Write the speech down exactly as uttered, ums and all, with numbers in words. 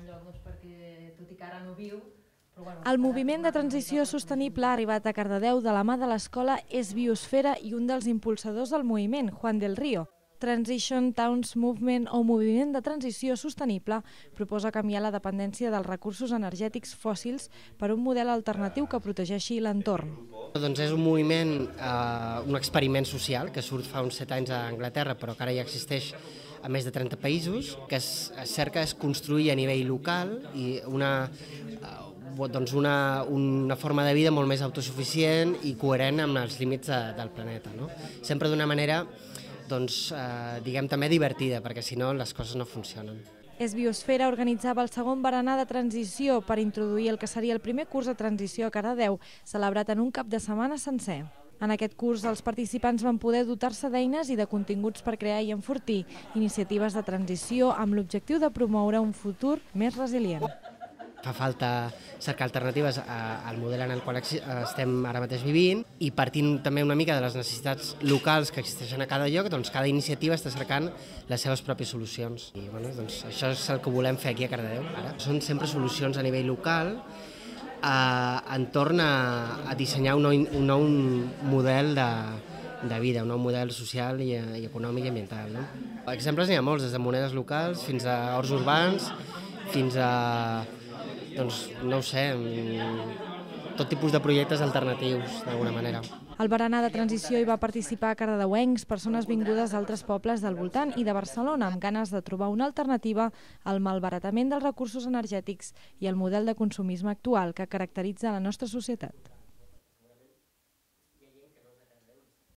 lloc doncs, perquè, tot i que ara no viu, però bueno... El moviment de transició sostenible ha arribat a Cardedeu de la mà de l'escola És Biosfera i un dels impulsadors del moviment, Juan del Río. Transition Towns Movement o Moviment de Transició Sostenible proposa canviar la dependència dels recursos energètics fòssils per un model alternatiu que protegeixi l'entorn. Doncs és un moviment, eh, un experiment social que surt fa uns set anys a Anglaterra, però que ara ja existeix a més de trenta països, que es, es cerca és construir a nivell local i una, eh, doncs una, una forma de vida molt més autosuficient i coherent amb els límits de, del planeta, no? Sempre d'una manera doncs, eh, diguem també divertida, perquè si no les coses no funcionen. És Biosfera organitzava el segon berenar de transició per introduir el que seria el primer curs de transició a Cardedeu, celebrat en un cap de setmana sencer. En aquest curs els participants van poder dotar-se d'eines i de continguts per crear i enfortir iniciatives de transició amb l'objectiu de promoure un futur més resilient. Fa falta cercar alternatives al model en el qual estem ara mateix vivint i partint també una mica de les necessitats locals que existeixen a cada lloc, doncs cada iniciativa està cercant les seves pròpies solucions. I bueno, doncs això és el que volem fer aquí a Cardedeu ara. Són sempre solucions a nivell local eh, entorn a, a dissenyar un nou, un nou model de, de vida, un nou model social i, i econòmic i ambiental. No? Exemples n'hi ha molts, des de monedes locals fins a horts urbans, fins a doncs, no ho sé, tot tipus de projectes alternatius, d'alguna manera. Al berenar de transició hi va participar cardedeuencs, persones vingudes d'altres pobles del voltant i de Barcelona, amb ganes de trobar una alternativa al malbaratament dels recursos energètics i al model de consumisme actual que caracteritza la nostra societat.